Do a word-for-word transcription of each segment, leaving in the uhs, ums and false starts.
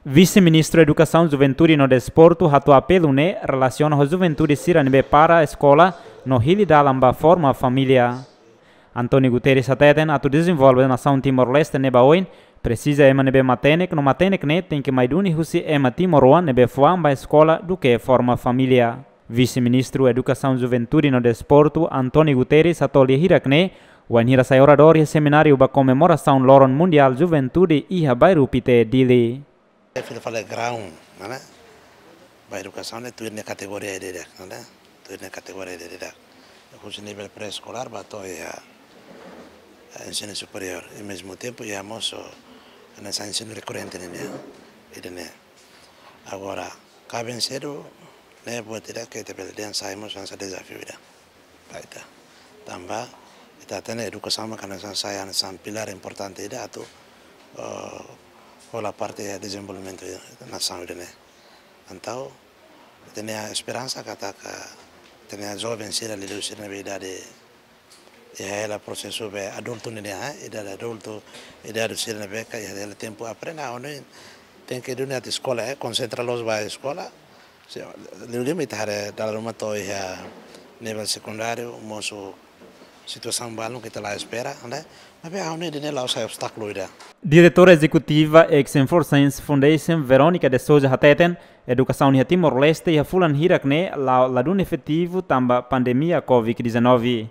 Vise-Ministru Edukasaun, Juventude no Desportu hato'o apelu ne'e relasiona ho juventude sira ne'ebé para eskola no hili dalan ba forma família. António Guterres hateten atu dezenvolve nasaun Timor-Leste ne'e ba oin, presiza ema ne'ebé matenek no matenek ne'e tenke mai duni husi ema timoroan ne'ebé fuan ba eskola duké forma família. Vise-Ministru Edukasaun, Juventude no Desportu, António Guterres, hato'o lia hirak ne'e wainhira sai oradór iha semináriu ba komemorasaun Loron Mundiál Juventude iha bairru Pité, Dili. Fila fali graun, mana? Ba edukasaun ne'e tuir nia kategoria ida-idak, mana? Tuir nia kategoria ida-idak. Husi nivel pré-eskolár ba to'o iha, eh, ensinu superiór. I mezmu tempu iha mós, hanesan ensinu rekorrente ne'e, ida-ne'e. Agora, kaben sedu ne'e buat ida ke ita bele dehan sai mós hanesan dezafiu ida ba ita. Tanba ita hatene edukasaun mak hanesan sai hanesan pilár importante ida atu, eh, hola parte iha dezenvolvimentu nasaun ida-ne'e. Entaun, ita-nia esperansa katak ita-nia joven sira, liuliu sira ne'ebé idade, iha hela prosesu be adultu nian, eh, idade adultu, idade sira ne'ebé ka iha hela tempu aprende, ha'u hanoin tenke duni atu eskola, eh, konsentra loos ba eskola. Se, liuliu mak ita haree dala ruma to'o iha nivel sekundáriu, mosu situasaun balun ke ita la espera, ne'e? Maibé ha'u hanoin ida-ne'e la'ós sai obstákulu ida. Diretora Ezekutiva Action for Science Foundation, Verónica de Sousa, hateten, edukasaun iha Timor-Leste iha fulan hirak ne'e la'o ladún efetivu tanba pandemia covid dezanove.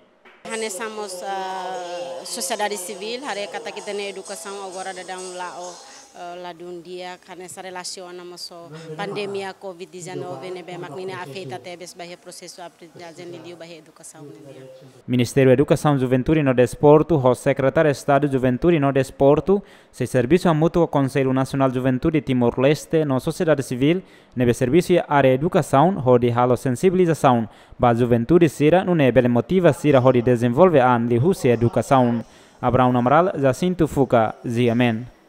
Hanesan mós, ah, sosiedade sivíl, haree katak ita-nia edukasaun agora daudaun la'o, ah, ladún di'ak, hanesan relasiona mós ho pandemia covid dezanove ne'ebé mak ninia afeta tebes ba iha prosesu aprendizajen liuliu ba iha edukasaun nian. Ministériu Edukasaun, Juventude no Desportu ho Sekretáriu Estadu Juventude no Desportu sei servisu hamutuk ho Konsellu Nasionál Juventude Timor-Leste no sosiedade sivíl ne'ebé servisu iha área edukasaun hodi halo sensibilizasaun ba juventude sira nune'e bele motiva sira hodi dezenvolve an liuhusi edukasaun. Abraão Amaral, Jacinto Fuca, G M N.